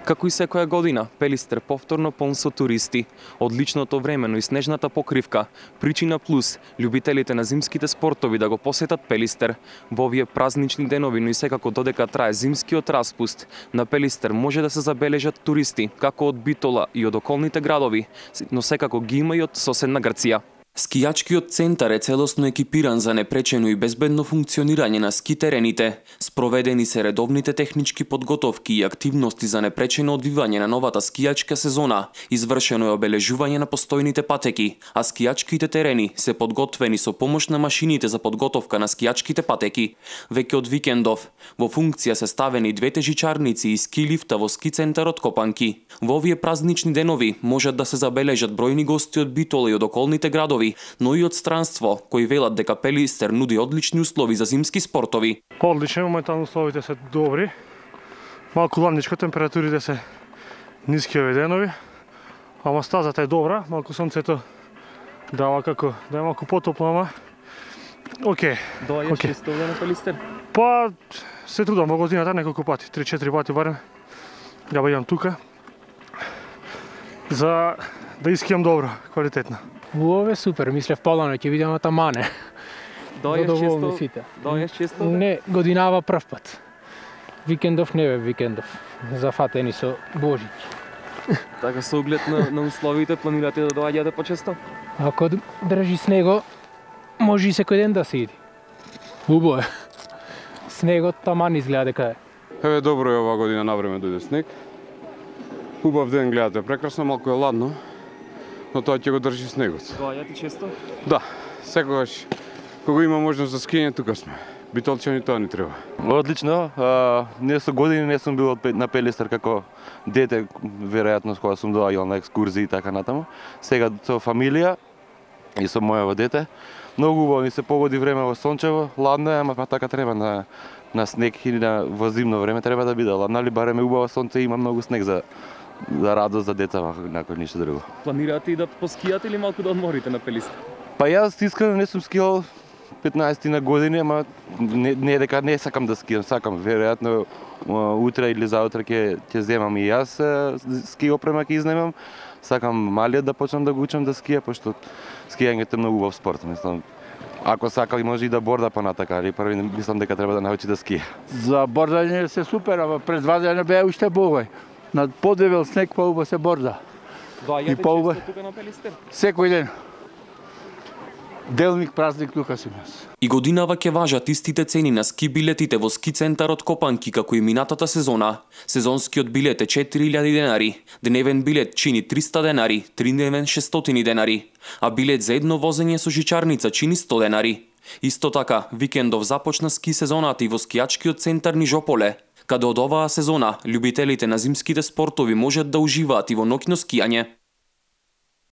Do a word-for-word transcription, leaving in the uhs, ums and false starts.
Како и секоја година, Пелистер повторно полн со туристи. Одличното времено и снежната покривка, причина плюс, љубителите на зимските спортови да го посетат Пелистер. Во овие празнични денови, но и секако додека трае зимскиот распуст, на Пелистер може да се забележат туристи, како од Битола и од околните градови, но секако ги има и од соседна Грција. Скијачкиот центар е целосно екипиран за непречено и безбедно функционирање на ски терените. Спроведени се редовните технички подготовки и активности за непречено одвивање на новата скијачка сезона. Извршено е обележување на постојните патеки, а скијачките терени се подготвени со помош на машините за подготовка на скијачките патеки. Веќе од викендов, во функција се ставени двете жичарници и ски лифта во ски центарот Копанки. Во овие празнични денови можат да се забележат бројни гости од Битола и од околните градови, но и од странство, кои велат дека Пелистер нуди одлични услови за зимски спортови. Одлично, моментално условите се добри. Малку ладничко, температурите се ниски овие денови, ама стазата е добра, малку сонцето дава како да е малку потопло, ама окей. Доаѓаш okay. често на Пелистер? Па се трудам во годината неколку пати, три-четири пати барем. Ја бидам тука за да искијам добро, квалитетно. Ovo je super, mislim polano ќе видиме тамане. Доаѓаш често? Доаѓаш често? Не, годинава прв пат. Викендов не бе викендов. Зафатени со Божич. Така со оглед на, на условите планирате да доаѓате почесто? Ако држи снего, може и секој ден да се иди. Убаво е. Снегот таман изгледа дека е. Еве добро е оваа година навреме дојде снег. Убав ден гледате, прекрасно, малку е ладно. Но тоа ќе го држи снегот. Доаѓате често? Да, секогаш кога има можност за скијање, тука сме. Битолчани тоа ни треба. Одлично. А, не со години не сум бил на Пелистер како дете, веројатно кога сум доаѓал на екскурзии и така натаму. Сега со фамилија и со мојаво дете. Многу убаво ни се погоди време во сончево, ладно е, ама па така треба на на снег и на во зимно време треба да биде ладно, али барем е убаво сонце и има многу снег за за радост за деца, накој ништо друго. Планирате и да поскијате или малку да одморите на Пелистер? Па јас искрено не сум скијал петнаесет на години, ама не, не дека не сакам да скијам, сакам. Веројатно утре или заутре ќе ќе земам и јас ски опрема ќе изнемам. Сакам малиот да почнам да го учам да скија, пошто скијањето е многу убав спорт, мислам. Ако сака може и да борда понатака, али први мислам дека треба да научи да скија. За бордање се супер, ама пред два дена беа уште богој. На подебел снег поуба се борда. Доаѓате често тука на Пелистер? Секој ден. Делник празник тука сум јас. И годинава ќе важат истите цени на ски билетите во ски центарот Копанки како и минатата сезона. Сезонскиот билет е четири илјади денари, дневен билет чини триста денари, тридневен шестстотини денари, а билет за едно возење со жичарница чини сто денари. Исто така, викендов започна ски сезоната и во скијачкиот центар Нижополе, каде од оваа сезона љубителите на зимските спортови можат да уживаат и во ноќно скијање.